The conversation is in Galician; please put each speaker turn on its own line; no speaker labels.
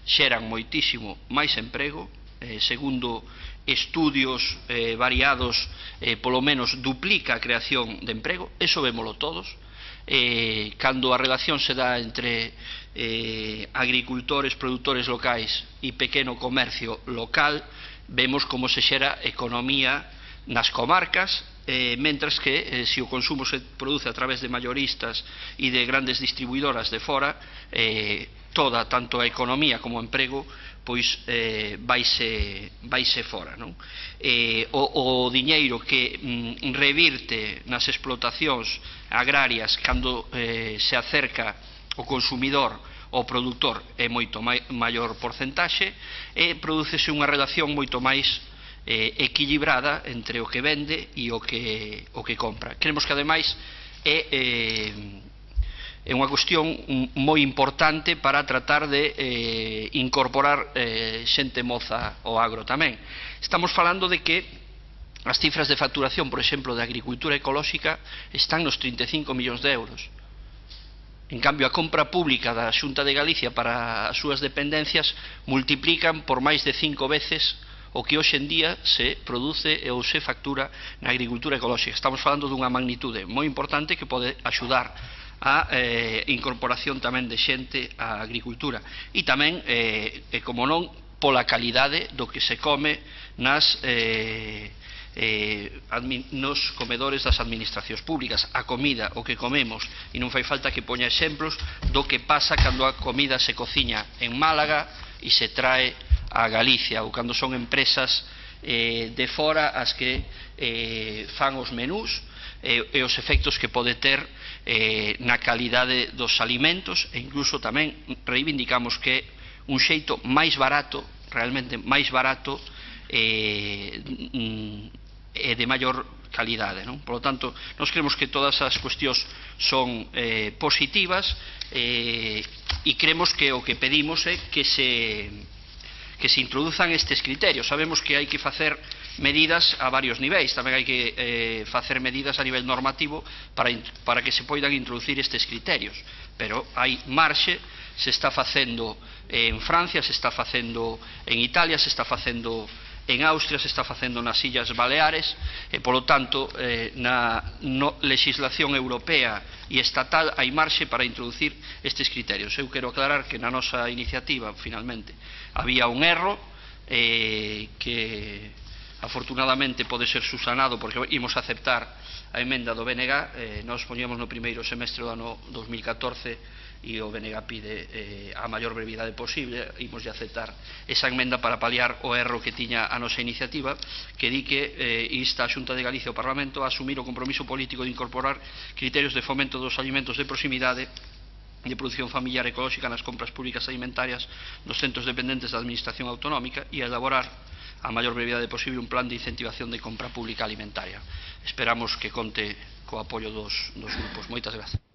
xeran moitísimo máis emprego, segundo estudios variados, polo menos duplica a creación de emprego, eso vémolo todos. Cando a relación se dá entre agricultores, produtores locais e pequeno comercio local, vemos como se xera economía nas comarcas, mentras que se o consumo se produce a través de mayoristas e de grandes distribuidoras de fora, toda, tanto a economía como o emprego, pois vaise fora, non? O diñeiro que revirte nas explotacións agrarias cando se acerca o consumidor ao produtor é moito maior porcentaxe, e prodúcese unha relación moito máis equilibrada entre o que vende e o que compra. Creemos que ademais é unha cuestión moi importante para tratar de incorporar xente moza ao agro tamén. Estamos falando de que as cifras de facturación, por exemplo, de agricultura ecolóxica están nos 35 millóns de euros. En cambio, a compra pública da Xunta de Galicia para as súas dependencias multiplican por máis de 5 veces o que hoxe en día se produce ou se factura na agricultura ecolóxica. Estamos falando dunha magnitude moi importante que pode axudar a incorporación tamén de xente á agricultura e tamén, como non, pola calidade do que se come nos comedores das administracións públicas. A comida, o que comemos, e non fai falta que poña exemplos do que pasa cando a comida se cociña en Málaga e se trae a Galicia, ou cando son empresas de fora as que fan os menús, e os efectos que pode ter na calidade dos alimentos, e incluso tamén reivindicamos que un xeito máis barato, realmente máis barato e de maior calidade, non? Por lo tanto, nós creemos que todas as cuestións son positivas, e creemos que o que pedimos é que se introduzan estes criterios. Sabemos que hai que facer medidas a varios niveis, tamén hai que facer medidas a nivel normativo para que se poidan introducir estes criterios, pero hai marxe. Se está facendo en Francia, se está facendo en Italia, se está facendo en Austria, se está facendo nas Illas Baleares, e polo tanto na legislación europea e estatal hai marxe para introducir estes criterios. Eu quero aclarar que na nosa iniciativa finalmente había un erro que afortunadamente pode ser subsanado porque imos aceptar a emenda do BNG. Nós poñemos no primeiro semestre do ano 2014 e o BNG pide a maior brevidade posible. Imos de aceptar esa emenda para paliar o erro que tiña a nosa iniciativa, que di que insta a Xunta de Galicia ao Parlamento a asumir o compromiso político de incorporar criterios de fomento dos alimentos de proximidade de produción familiar ecolóxica nas compras públicas alimentarias dos centros dependentes da Administración Autonómica e a elaborar a maior brevidade posible un plan de incentivación de compra pública alimentaria. Esperamos que conte co apoio dos grupos. Moitas grazas.